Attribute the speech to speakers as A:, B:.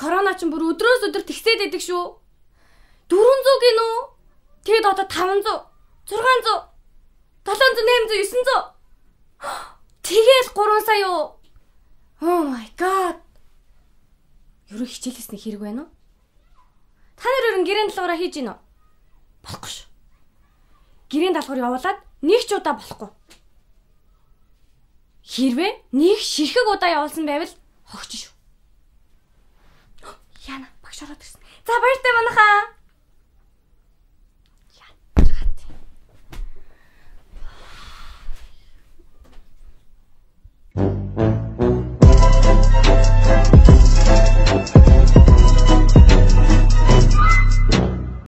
A: корона ч бүр өдрөөс өдөр тэгсээд байдаг шүү. 400 гинөө. Тэгэд одоо 500, 600, 700, 800, 900. Тэгэл 3 сая юу? Oh my god. Юу хичээлээс нэг хэрэг байна уу? Та нар өрн гэрэн даалгавраа хийж гинөө? Болохгүй шүү. Гэрэн даалгавар явуулаад нэг ч удаа болохгүй. Хэрвээ нэг ширхэг удаа явуулсан байвал хогч шүү. Яна багш ороод ирсэн. За баяртай манайхаа.